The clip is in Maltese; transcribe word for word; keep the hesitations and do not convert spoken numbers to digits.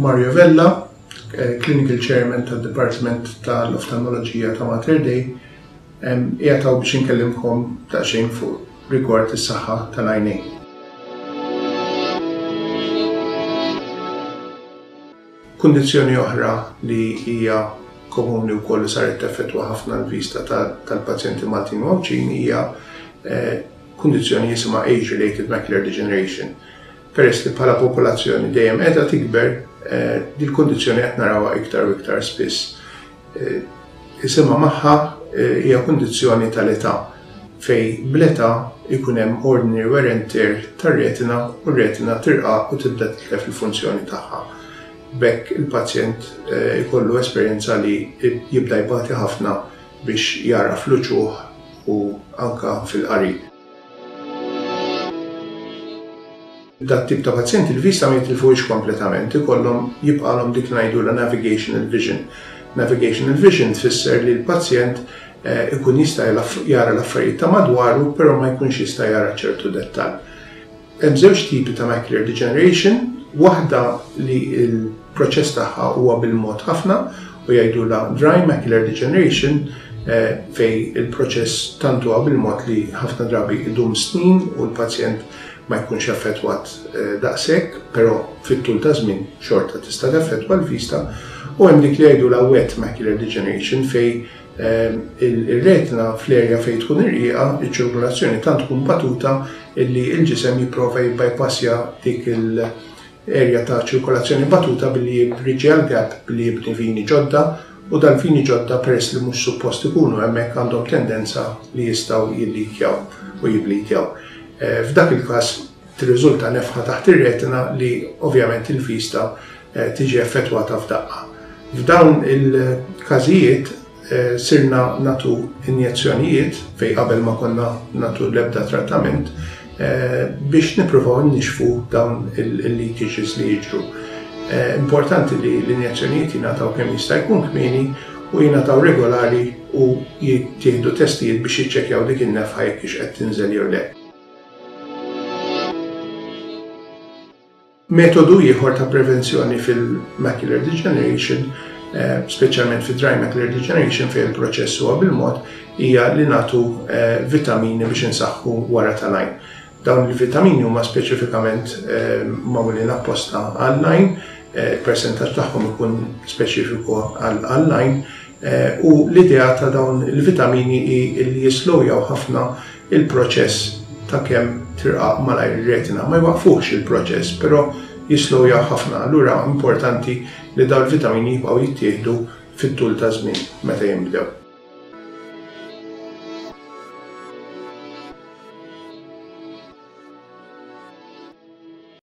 Mario Vella, Clinical Chairman tad-Dipartiment tal-Oftalmoloġija ta' Mater Dei, qiegħed hawn biex inkellimkom daqsxejn fuq rigward is-saħħa tal-għajnejn. Kundizzjoni oħra li hija komuni wkoll li saret teffettwa ħafna l-vista tal-pazjenti Maltin u Għawdxin hija kundizzjoni jisimha age-related macular degeneration. Peress li bħala popolazzjoni dejjem qiegħda tikber, dil-kundizzjoni qed narawha iktar u iktar spiss. Isimha magħha hija kundizzjoni tal-età fej bl-età ikun hemm ordinary wear and tear tar-retina u r-retina tirqaq u tibda titlef il-funzjoni tagħha. B'hekk il-pazjent ikollu esperjenza li jibda jbati ħafna biex jara fl-uċuħ u anka fil-qari. Dat tip ta' pazjenti il-vista ma jitilfuhiex kompletament, ikollhom jibqalhom dik li ngħidulha navigational vision. Navigational vision tfisser li l-pazjent ikun jista' jara l-affarijiet ta' madwaru, però ma jkunx jista' jara ċertu dettall. Hemm żewġ tipi ta' macular degeneration, waħda li l-proċess tagħha huwa bil-mod ħafna u jgħidulha dry macular degeneration, fej il-proċess tant huwa bil-mod li ħafna drabi idum snin u l-pazjent ma jkunx affettwat daqshekk, però fit-tul ta' żmien xorta tista' teffettwa l-vista. U hemm dik li jgħidulha wet macular degeneration fej ir-retina fl-erja fejn tkun irqiqa, iċ-ċirkolazzjoni tant tkun batuta illi l-ġisem jipprova jibbypassja dik l-erja ta' ċirkolazzjoni batuta billi jibbriġġja l-gap billi jibni vini ġodda, u dal-vini ġodda peress li mhux suppost ikunu hemmhekk għandhom tendenza li jistgħu jillikjaw u jiblitjaw. F'dak il-każ tirriżulta nefħa taħt ir-retina li ovvjament il-vista tiġi effettwata f'daqqa. F'dawn il-każijiet sirna natu injezzjonijiet fej qabel ma konna natu l-ebda trattament biex nippruvaw nixfu dawn il-leakages li jiġru. Importanti li l-injezzjonijiet jingħataw kemm jista' jkun kmieni u jingħataw regolari u jittieħdu testijiet biex jiċċekkjaw dik in-nefħa jekk hix qed tinżel jew le. Metodu ieħor ta' prevenzjoni fil-macular degeneration, speċjalment fid-dry macular degeneration fejn il-proċess huwa bil-mod, hija li nagħtu vitamini biex insaħħu wara tal-għajn. Dawn il-vitamini huma speċifikament magħmulin apposta għall-għajn, il-persentaġġ tagħhom ikun speċifiku għall-għajn, u l-idea ta' dawn il-vitamini hi li jislowjaw ħafna il-proċess ta' kemm tirqaq malajr ir-retina. Ma jwaqfuhx il-proċess, però jislowjaw ħafna. Allura importanti li dawn il-vitamini jibqgħu jittieħdu fit-tul ta' żmien meta jinbdew.